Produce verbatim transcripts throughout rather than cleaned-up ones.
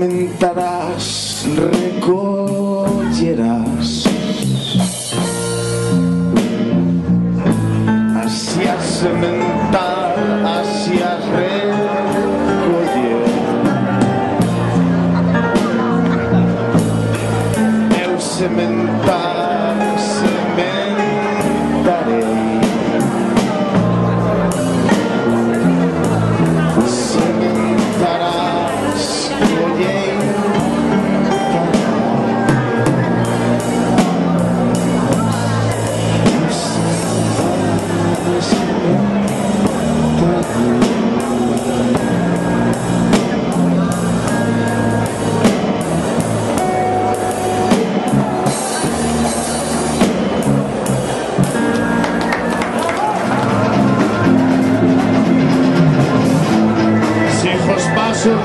sementarás, recollerás. Así a sementar, así a recoller. Eu sementar, sementarei. Sementarás,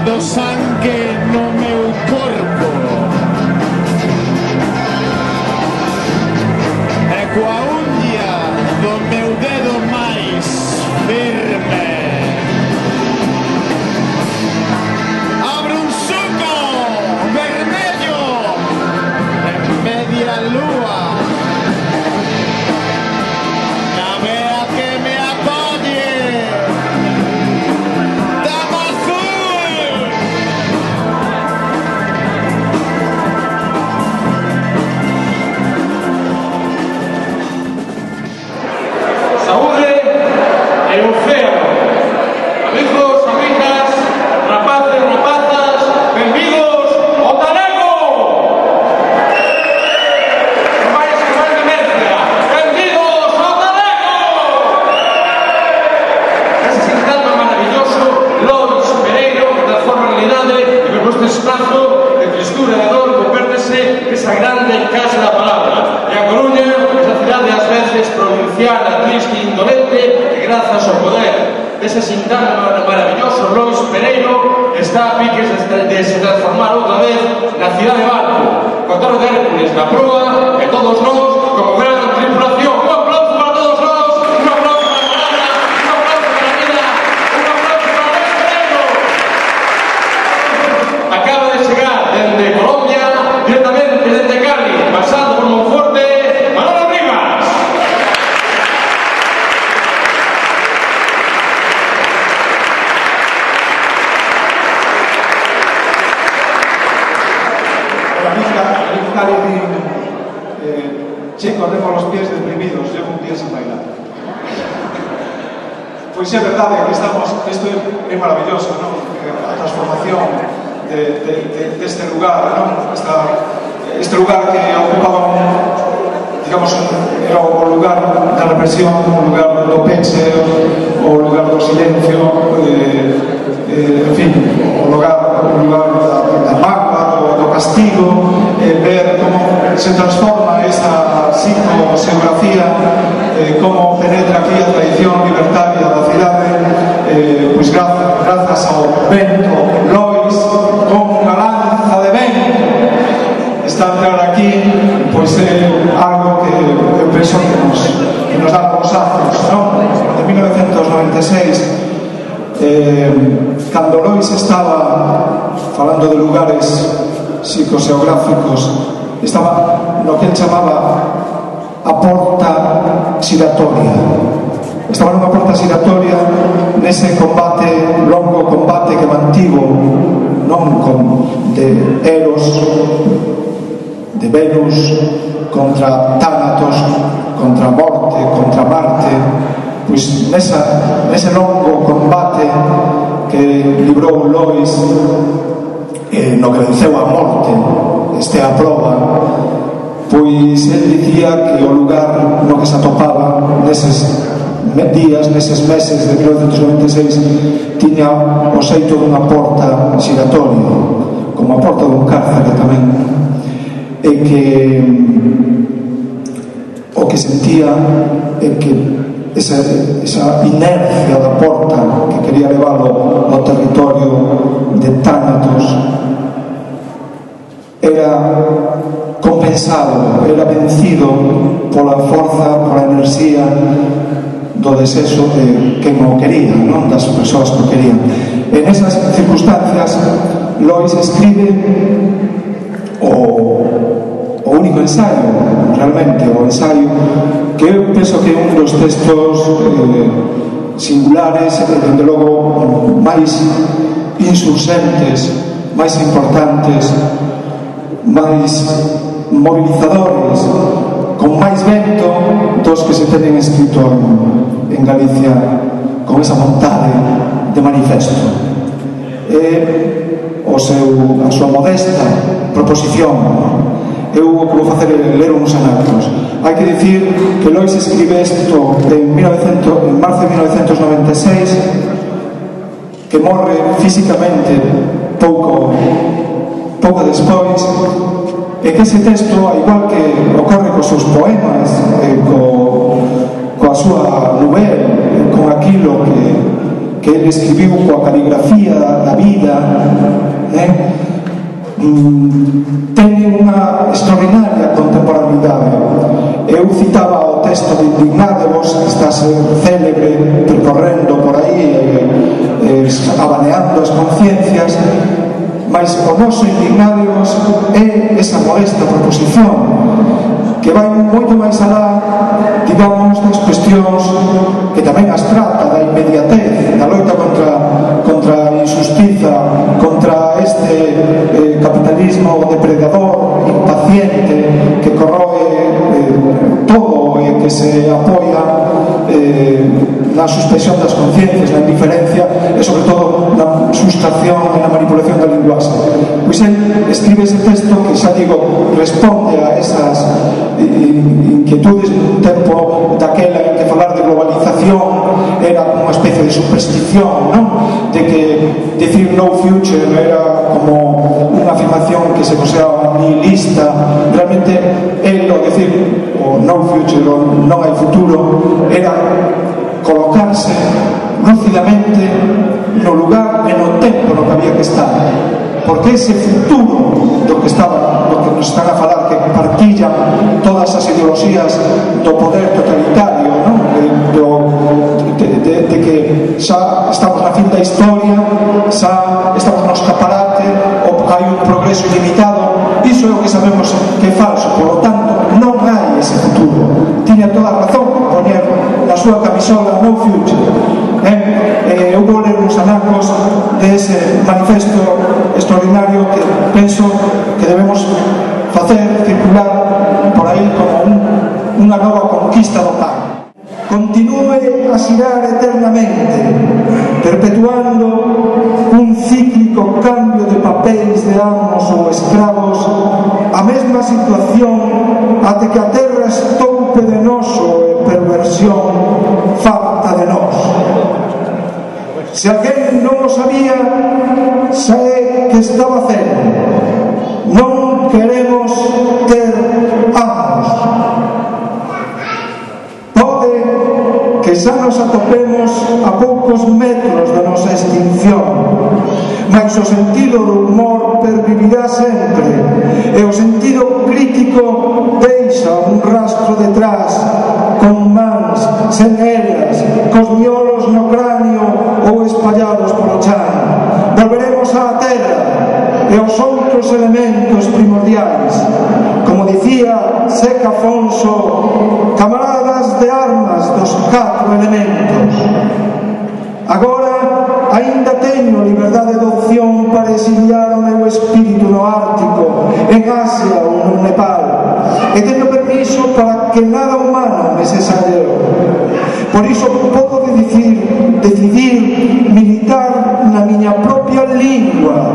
do sangue no meu corpo e coa unha do meu dedo máis firme abro un suco vermello en media lúa na vea que me acolle. Ese sintano maravilloso Lois Pereiro está a piques de se transformar outra vez na cidade de Barco, con Torre de Hércules na proa e todos nós como gran tripulación. Un aplauso para todos nós, un aplauso para a palabra, un aplauso para a vida, un aplauso para Lois Pereiro. Acaba de chegar dende Colombia, directamente dende Cali, pasando por Monforte, Manolo Rivas. Chico, tengo los pies deprimidos, llevo un día sin bailar. Pois é verdade que estamos, isto é maravilloso, ¿no? A transformación de, de, de, de este lugar, ¿no? Esta, este lugar que ocupaba un, digamos, un, era o lugar da represión, o lugar do peche, o lugar do silencio, eh, eh, en fin, o lugar, o lugar da, da mágoa, do, do castigo, eh, ver como se transforma esa psicoseografía, eh, como penetra aquí a tradición libertaria da cidade, eh, pois grazas, grazas ao vento, Lois, con unha lanza de vento, está a entrar aquí, pois é algo que eu penso que nos, que nos dá consazos, non? De mil novecentos noventa e seis, eh, cando Lois estaba falando de lugares psicoseográficos, estaba no que ele chamaba a porta xiratoria. Estaba nunha porta xiratoria nese combate, longo combate que mantivo, non con de Eros, de Venus, contra Tánatos, contra Morte, contra Marte. Pois nesa, nese longo combate que librou Lois, eh, no que venceu a morte, este a proba, pois el dicía que o lugar no que se atopaba neses días, neses meses de mil novecentos noventa e seis, tiña o xeito dunha porta xiratoria, como a porta dun cárcere tamén, e que o que sentía é que esa, esa inercia da porta que quería leválo ao territorio de Tánatos era compensado, era vencido pola forza, pola enerxía do desexo de quen o quería, non? Das persoas que o querían. En esas circunstancias, Lois escribe o, o único ensaio, realmente, o ensaio que eu penso que é un dos textos eh, singulares e, dende logo, máis insurxentes, máis importantes, máis mobilizadores, con máis vento dos que se tenen escrito en, en Galicia, con esa vontade de manifesto. E o seu, a súa modesta proposición, eu o que vou facer é ler uns anacos. Hai que dicir que Lois escribe isto en, mil novecientos, en marzo de mil novecientos noventa e seis, que morre físicamente pouco pouco despois, e que ese texto, ao igual que ocorre cos seus poemas, e co, coa súa novela, con aquilo que, que ele escribiu coa caligrafía da vida, eh, mm, ten unha extraordinaria contemporaneidade. Eu citaba o texto de Indignadevos, que está a ser célebre, percorrendo por aí, eh, eh, abaneando as conciencias, mas o noso Indignadevos é esa modesta proposición que vai moito máis alá, digamos, das cuestións que tamén as trata da inmediatez, da loita contra, contra a injustiza, contra este eh, capitalismo depredador, impaciente, que corroe eh, todo e que se apoia eh, na suspensión das conciencias, na indiferencia e, sobre todo, na sustracción e na manipulación da linguaxe. Pois ele escribe ese texto que, xa digo, responde a esas inquietudes nun tempo daquela en que falar de globalización era unha especie de superstición, non? De que decir no future era como unha afirmación que se consideraba nihilista. Realmente el, o decir o no future, o non hai futuro, era colocarse lúcidamente no lugar e no tempo no que había que estar, porque ese futuro do que estaba, do que nos están a falar, que partillan todas as ideoloxías do poder totalitario, non? De, do, de, de, de que xa estamos na fin da historia, xa estamos no escaparate, ou hai un progreso ilimitado. Iso é o que sabemos que é falso, por lo tanto non hai ese futuro. Tiña toda a razón poñer na súa camisola no future. Eh, eu vou ler uns anacos de ese manifesto extraordinario que penso que debemos facer circular por aí como un, unha nova conquista do pan. Continúe a xirar eternamente, perpetuando un cíclico cambio de papéis de amos ou escravos, a mesma situación até que a terra estoupe de noso e perversión falta de nós. Se alguén non o sabía, xa é que estaba cero. Non queremos ter amos. Pode que xa nos atopemos a poucos metros da nosa extinción, mas o sentido do humor pervivirá sempre, e o sentido crítico deixa un rastro detrás, con mans, sen elas, cos miolos no cráneo ou espallados polo chan. Volveremos á terra e aos outros elementos primordiais. Como dicía Seca Afonso, camaradas de armas dos catro elementos. Agora aínda teño liberdade de opción para exiliar o meu espírito no Ártico, en Asia ou no Nepal, e teño permiso para que nada humano me cesareo. Por iso podo decidir, decidir militar na miña propia lingua,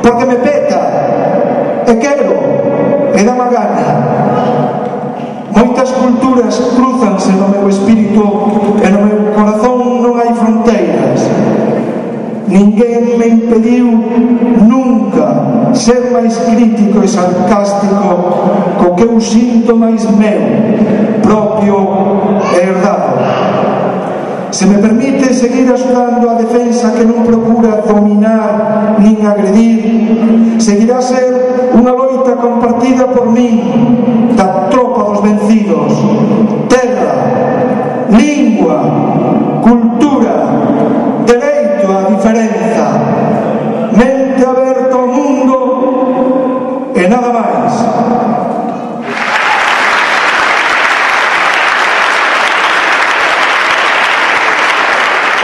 porque me peta e quero e dá má gana. Moitas culturas cruzanse no meu espírito e no meu corazón non hai fronteiras. Ninguén me impediu nunca ser máis crítico e sarcástico co que eu sinto máis meu, propio e herdado. Se me permite seguir axudando a defensa que non procura dominar nin agredir, seguirá a ser unha loita compartida por min, da tropa dos vencidos. Terra, lingua, cultura, dereito á diferenza, mente aberta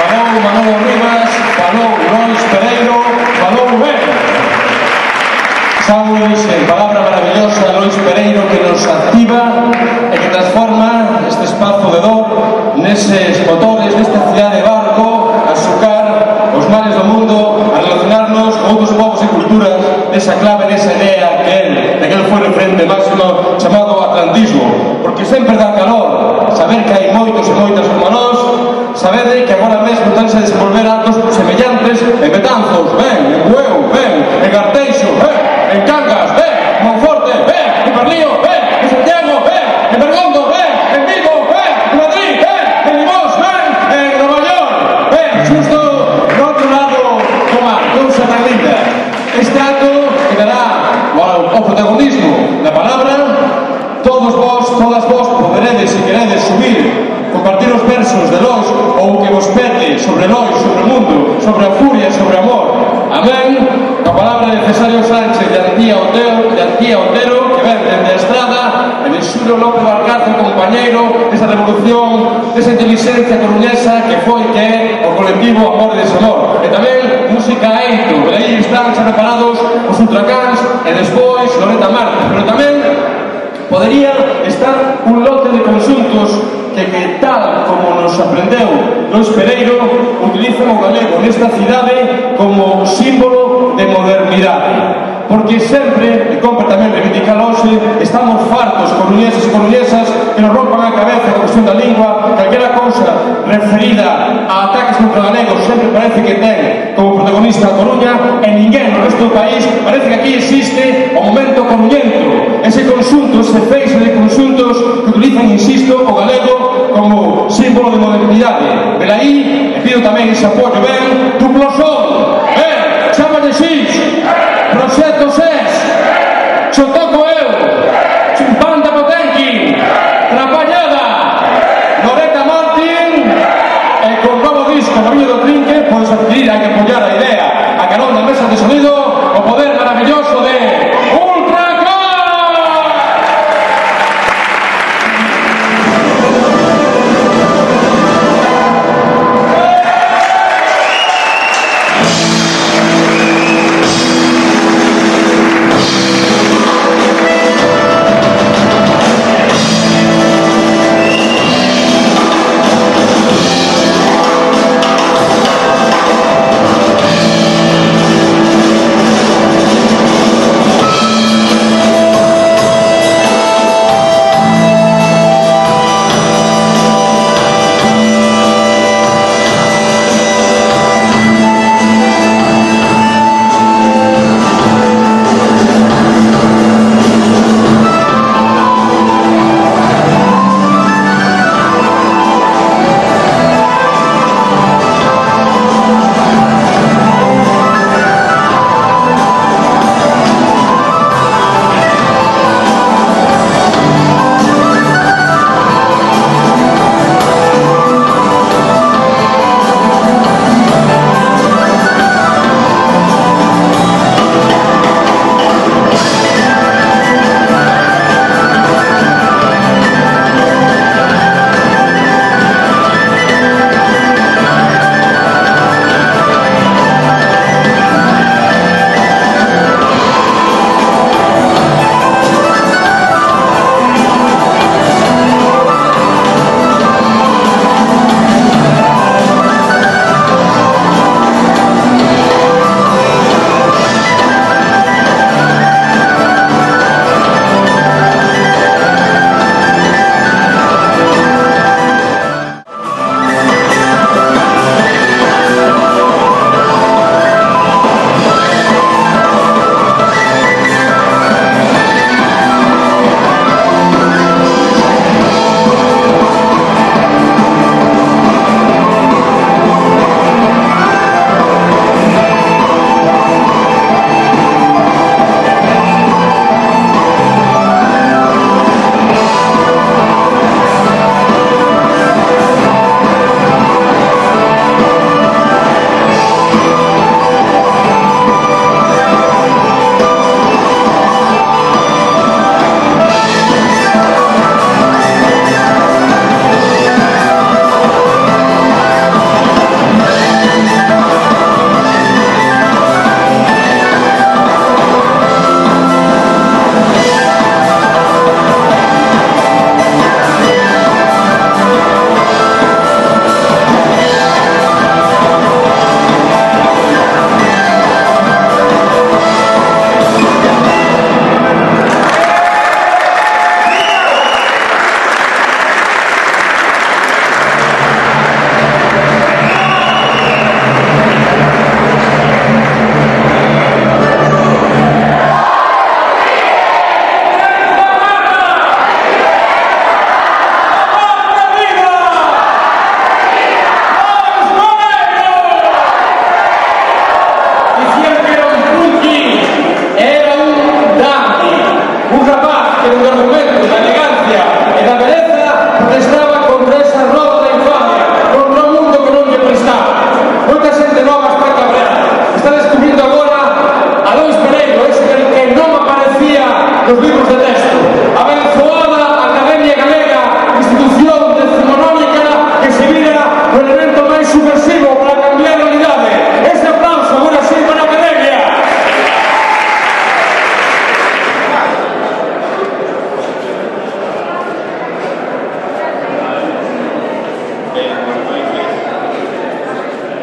falou Manolo Rivas, falou Lois Pereiro, falou ben. Saules, en palabra maravillosa, Lois Pereiro, que nos activa e que transforma este espazo de dor neses motores desta cidade de Barco a sucar os males do mundo, a relacionarnos con outros povos e culturas nesa clave, nesa idea que él, de que él foi referente máximo chamado atlantismo, porque sempre dá calor saber que hai moitos e moitas como nós, sabede que agora mesmo estánse a desenvolver actos semellantes en Betanzos, ben, en Bueu, ben, en Garteixo, ben, en Cangas, ben, en Monforte, ben, en Berlío, ben, en Santiago, ben, en Bergondo, ben, en Vigo, ben, en Madrid, ben, en Limos, ben, en Nova York, ben, xusto no outro lado do mar, cousa tan linda. Este acto que dará o protagonismo na palabra, todos vos, todas vos poderedes, se queredes subir, compartir os versos de Lois ou que vos pete sobre Lois, sobre o mundo, sobre a furia, sobre o amor. Amén. A palabra de Cesario Sánchez de Antía Otero, de Antía Otero, que ven dende a estrada, e de Xulio López Valgarzo, compañeiro desa revolución, desa inteligencia coruñesa que foi que é o colectivo Amor e Desamor. E tamén música Eito, por aí están xa preparados os ultracans e despois Loreta Martins, pero tamén podería estar un lote de conxuntos que, que tal como nos aprendeu Lois Pereiro, utilizan o galego nesta cidade como símbolo de modernidade. Porque sempre, e compre tamén reivindicar hoxe, estamos fartos, coruñeses e coruñesas, que nos rompan a cabeza a cuestión da lingua, calquera cousa referida a ataques contra galegos sempre parece que ten como protagonista a Coruña, e ninguén no resto do país parece que aquí existe o momento coruñento, ese conxunto, ese feixe de conxuntos que utilizan, insisto, o galego como símbolo de modernidade. Pero aí, e pido tamén ese apoio, ben, duplo sol, ben, chámale xix, Proxecto SES, xo toco eu, Chumpanda Potenqui, Trapallada, Loreta Martín, e con novo disco no Viño do Trinque, podes adquirir, hai que apoiar a idea, a carón da mesa de sonido, o poder maravilloso de Ultracan!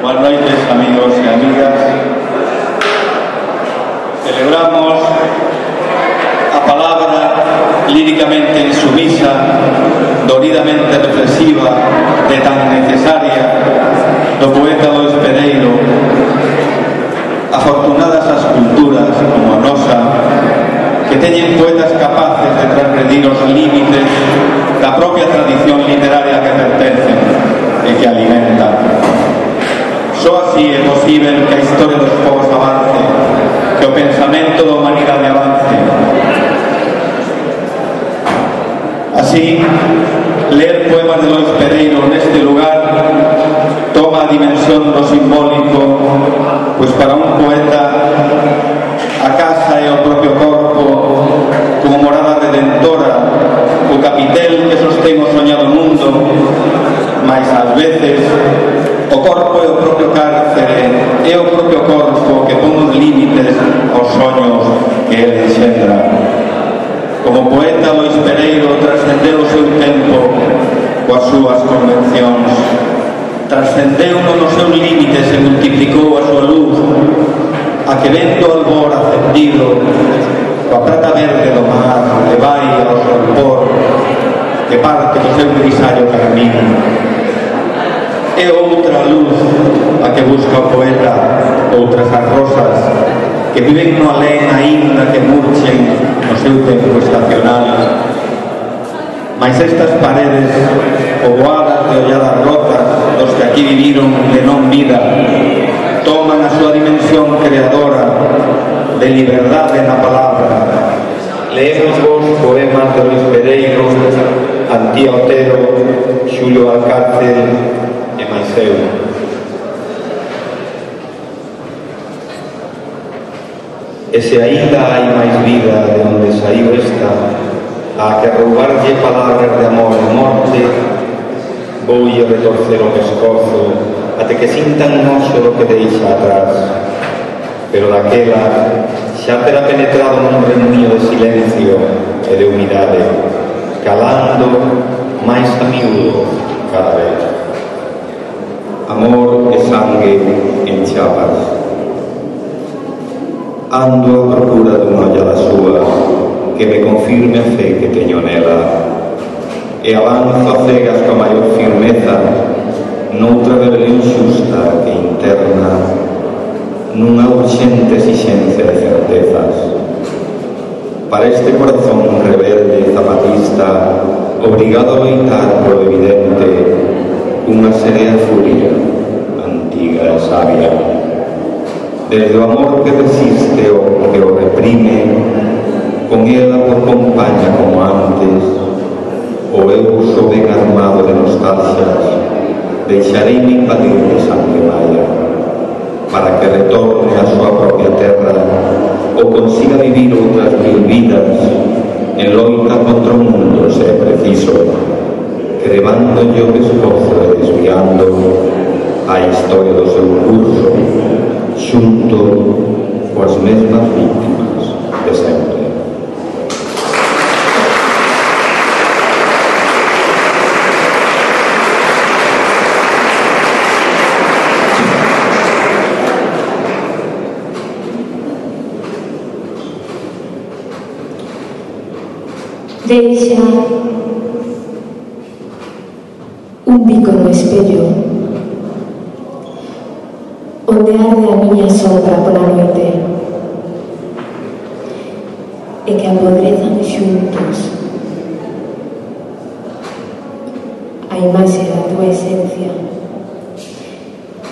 Buenas noches, amigos y amigas. Celebramos a palabra líricamente insumisa, doridamente reflexiva, de tan necesaria, do poeta Lois Pereiro. Afortunadas as culturas como a nosa, que teñen poetas capaces de transgredir os límites da propia tradición literaria que pertencen e que alimentan. Só así é posible que a historia dos povos avance, que o pensamento da humanidade avance. Así, ler poemas de Lois Pereiro neste lugar toma a dimensión do simbólico, pois para un poeta a casa é o propio corpo como morada redentora, o capitel que sostén o soñado mundo, mas ás veces o corpo é o propio cárcere, é o propio corpo que pon os límites aos soños que ele enxendra. Como poeta, Lois Pereiro trascendeu o seu tempo coas súas convencións, trascendeu nos seus límites e multiplicou a súa luz, a que vendo o albor ascendido, coa prata verde do mar, que vai ao solpor, que parte do seu grisallo carmín. É outra luz a que busca o poeta, outras as rosas, que viven no alén aínda que murchen no seu tempo estacional. Mas estas paredes, poboadas de olladas rotas dos que aquí viviron de non vida, toman a súa dimensión creadora de liberdade na palabra. Leemos vos poemas de Lois Pereiro, Antía Otero, Xulio Alcácer e máis eu. E se aínda hai máis vida de onde saiu esta, a que roubarlle palabras de amor e morte, voulle retorcer o pescozo até que sintan noxo do que deixa atrás. Pero daquela xa terá penetrado nun remuño de silencio e de humidade, calando máis a miúdo cada vez. Amor e sangue en chapas. Ando a procura dunha ollada súa que me confirme a fe que teño nela, e avanzo a cegas coa maior firmeza noutra rebelión xusta que interna nunha urxente exixencia de certezas. Para este corazón rebelde zapatista, obrigado a loitar polo evidente, unha serea furia antiga e sabia. Desde o amor que resiste o que o reprime, con ela por compaña como antes, o eu só ben armado de nostalgias, deixareime invadir de sangue maya, para que retorne a súa propia terra ou consiga vivir outras mil vidas en loita contra o mundo, se é preciso, crevándolle o pescozo e desviando a historia do seu curso, xunto coas mesmas víctimas de sempre. Deixa un bico no espello onde arde a miña sombra pola noite e que apodrezan xuntos a imaxe da tua esencia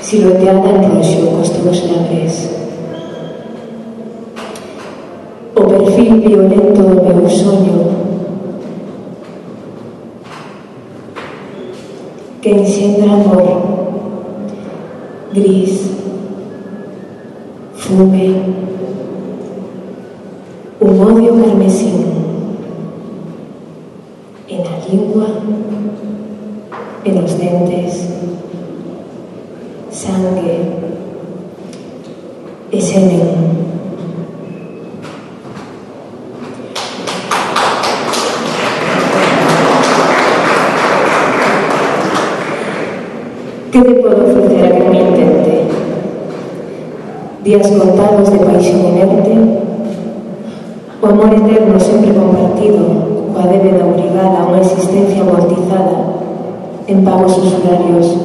silueteada en roxo cos teus labres, o perfil violento do meu soño que enxendra amor, gris, fume, un odio carmesín en la lingua, en los dentes, sangue e semen. ¿Qué te puedo ofrecer a que me intentes? días contados de paixón inerte, o amor eterno sempre compartido, coa débeda obrigada a unha existencia amortizada en pagos usurarios,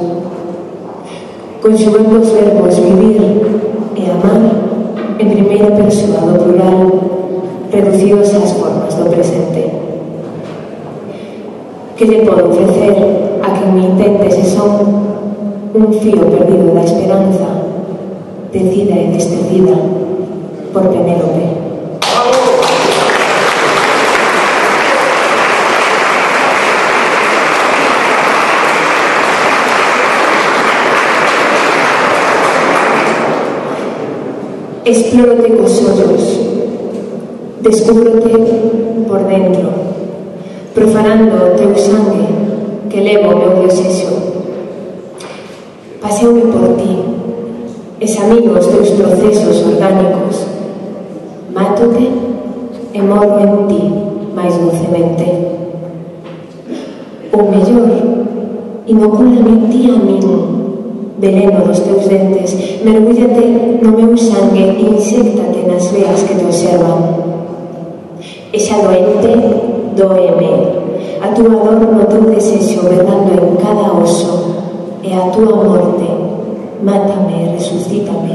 conxugando os verbos vivir e amar en primeira persoa do plural, reducidos ás formas do presente. Que lle podo ofrecer a quen me intente se son un fío perdido da esperanza, decida e destecida por Penélope. Explórote cos ollos, descúbrote por dentro, profanando o teu sangue que levo o meu desexo. Paseume por ti, examino os teus procesos orgánicos, mátote e morro en ti máis dulcemente. Ou mellor, inocúlame ti a min, veneno dos teus dentes, mergúllate no meu sangue e inséctate nas veas que te observan. E xa doente, doeme, a túa dor no teu desexo verdando en cada oso, e a túa morte, mátame e resucítame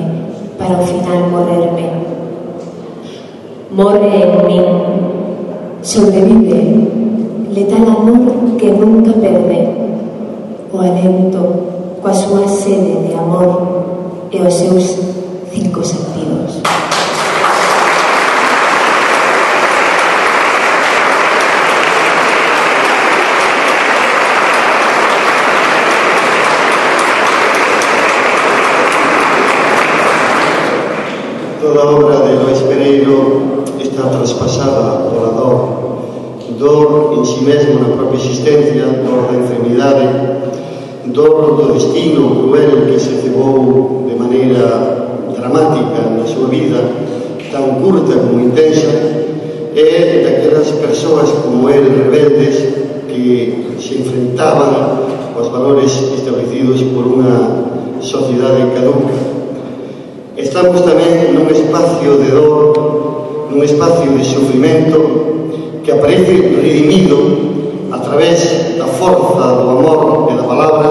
para ao final morrerme. Morre en min, sobrevive, letal amor que nunca perde, o alento coa súa sede de amor e os seus cinco sentidos. Toda a obra de Lois Pereiro está traspasada pola dor, dor en si mesmo na propia existencia, dor da enfermidade, dor do destino cruel que se cebou de maneira dramática na súa vida, tan curta como intensa, e daquelas persoas como el, rebeldes, que se enfrentaban aos valores establecidos por unha sociedade caduca. Estamos tamén nun espacio de dor, nun espacio de sufrimento que aparece redimido a través da forza do amor e da palabra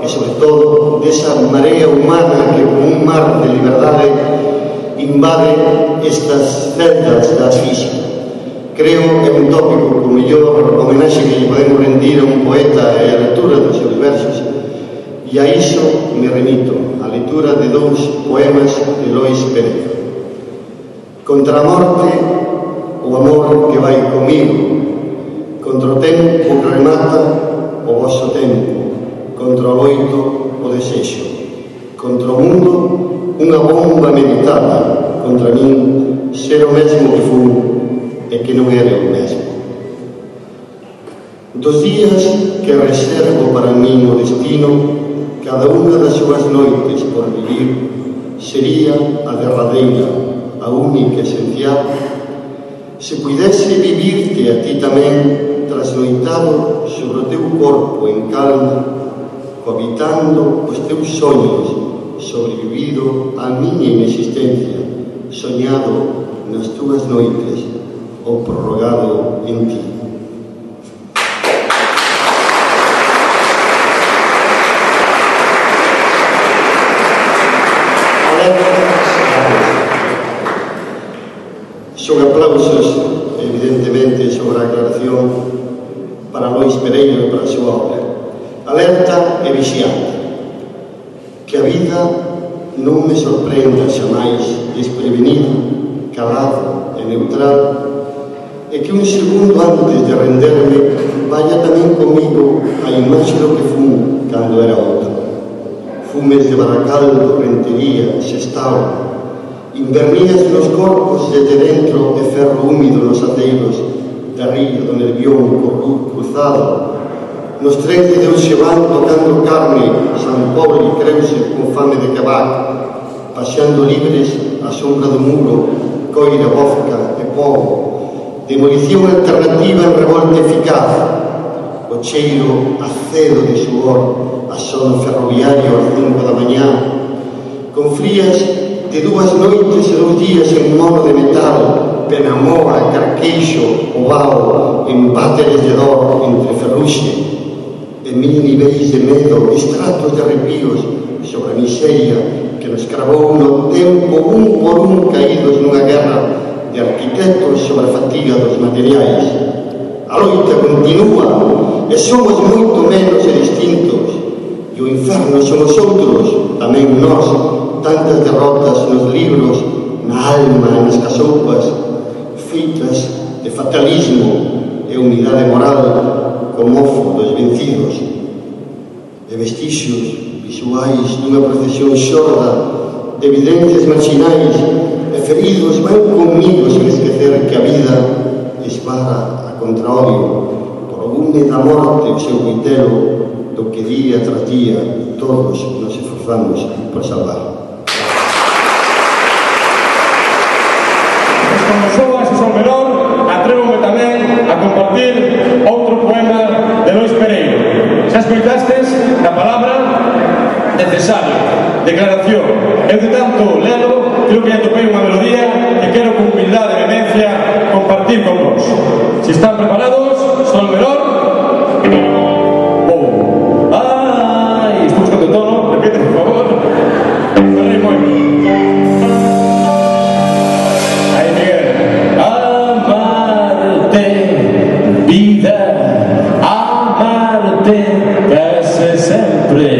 e, sobre todo, desa marea humana que, como un mar de liberdade, invade estas celdas da física. Creo que é un tópico co mellor homenaxe que lle podemos rendir a un poeta e a lectura dos seus versos, e a iso me remito, a lectura de dous poemas de Lois Pereiro. Contra a morte, o amor que vai comigo, contra o tempo que remata o vosso tempo, contra o loito o desexo, contra o mundo unha bomba meditada, contra min ser o mesmo que fun e que non era o mesmo. Dos días que reservo para min o destino, cada unha das súas noites por vivir sería a derradeira, a única esencial. Se puidese vivirte a ti tamén trasnoitado sobre o teu corpo en calma, cohabitando os teus sonhos, sobrevivido á miña inexistencia, soñado nas túas noites ou prorrogado en ti. Son aplausos, evidentemente, sobre a aclaración para Lois Pereiro e para a súa obra. Alerta e vixiante. Que a vida non me sorprenda xamais desprevenida, calada e neutral, e que un segundo antes de renderme vaya tamén comigo a imaxe do que fun cando era outra. Fumes de Baracaldo, Rentería, Sestao, invernías nos corpos desde dentro de ferro húmido nos ateiros da ría do Nervión cruzado, nos trens de Deus se van tocando carne, San Pobre e Creuse con fame de cabac, paseando libres a sombra do muro, coira, bofca e povo, demolición alternativa en revolta eficaz, o cheiro acedo de suor, a sono ferroviario ás cinco da mañá, con frías de dúas noites e dous días en mono de metal, Penamora, Carqueixo, Ovao, embáteres de dor entre ferruxe, e mil niveis de medo, estratos de arrepios sobre a miseria que nos cravou no tempo un por un caídos nunha guerra de arquitectos sobre a fatiga dos materiais. A loita continúa e somos moito menos e distintos, e o inferno somos outros, tamén nós, tantas derrotas nos libros, na alma e nas casoupas, feitas de fatalismo e unidade moral co mofo dos vencidos, e vestixios visuais dunha procesión xorda de evidencias marginais e feridos van comigo sen esquecer que a vida esbarra a contraodio por o gume da morte o seu coitelo do que día tras día todos nos esforzamos por salvar. Como soa ese sol menor, atrévome tamén a compartir outro poema de Lois Pereiro. Xa escoitastes na palabra necesario, declaración. Eu de tanto lelo, creo que ya topei unha melodía que quero con humildade e vehemencia compartir con vos. Si están preparados, sol menor. Oh. Ai, estou buscando o tono, repite, por favor. Ferrei moito. Aí, Miguel. Amarte, vida, amarte, case sempre.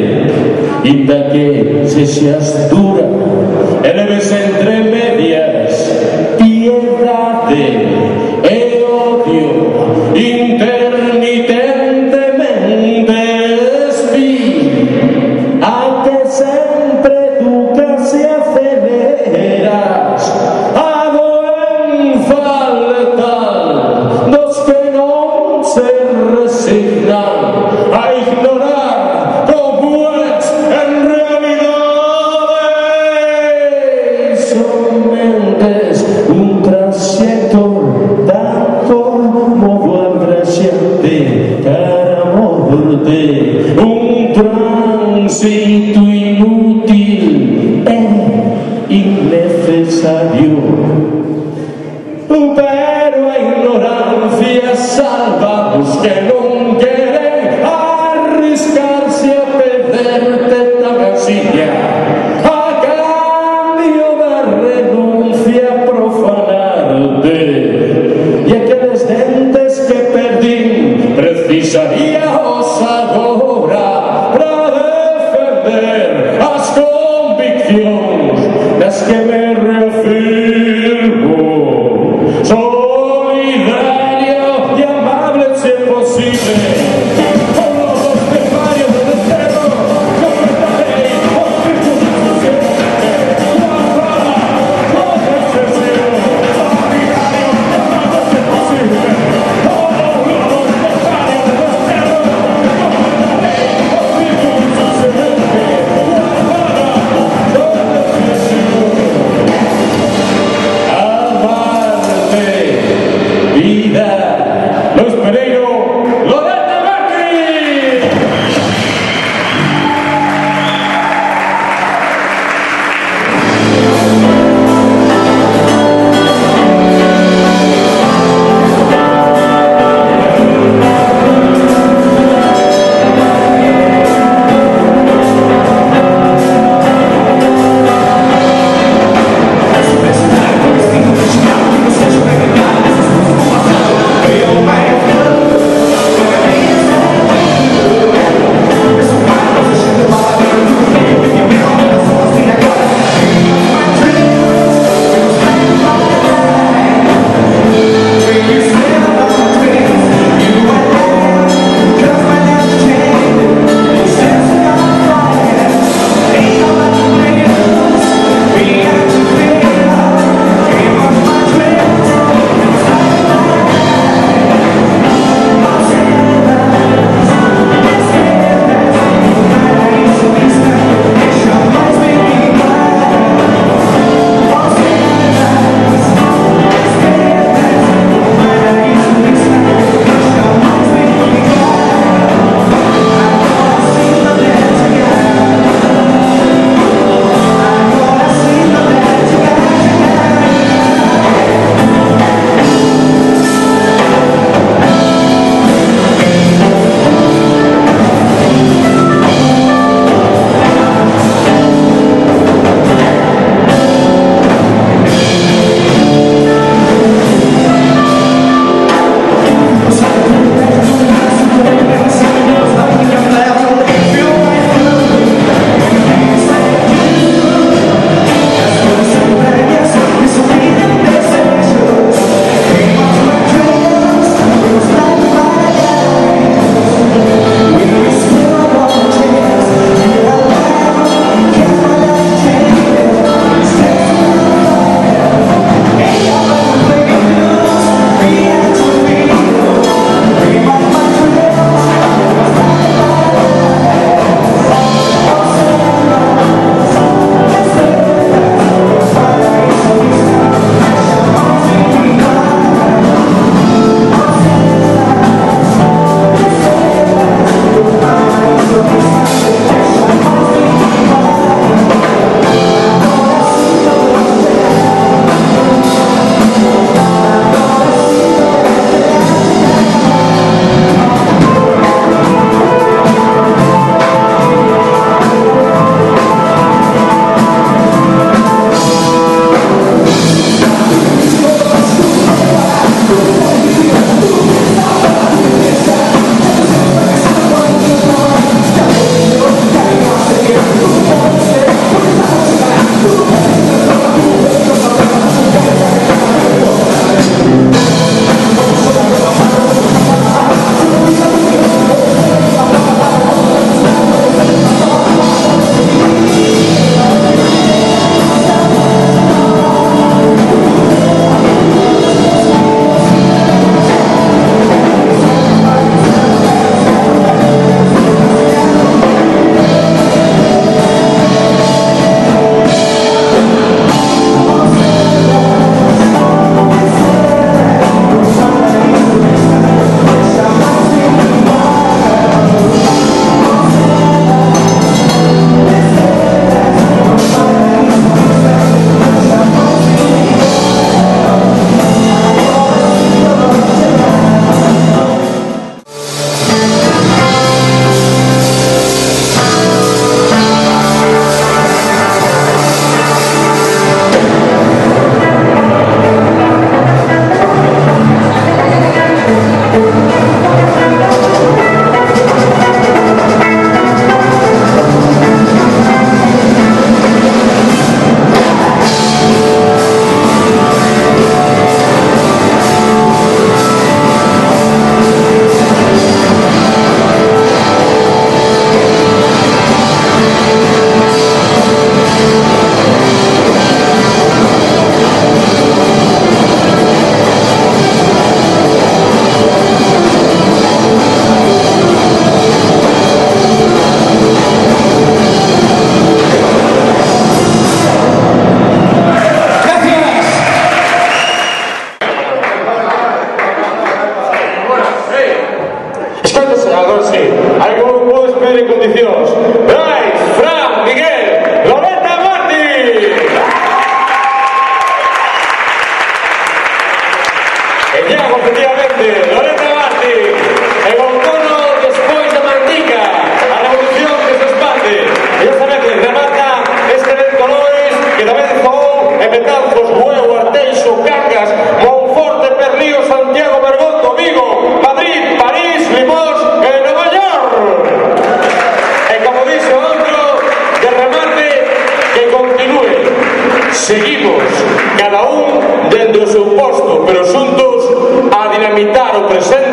Inda que sexas dura e leves entre medias piedade e odio intermitentemente espí a que sempre tú casi aceleras a doenza letal dos que non se resignan a ignorar un tránsito inútil e innecesario, pero a ignorancia salva os que non queren arriscarse a perderte tan asilla a cambio da renuncia a profanarte, e aqueles dentes que perdín precisaría agora para defender as conviccións das que me refiro. Seguimos, cada un dentro do seu posto, pero xuntos a dinamitar o presente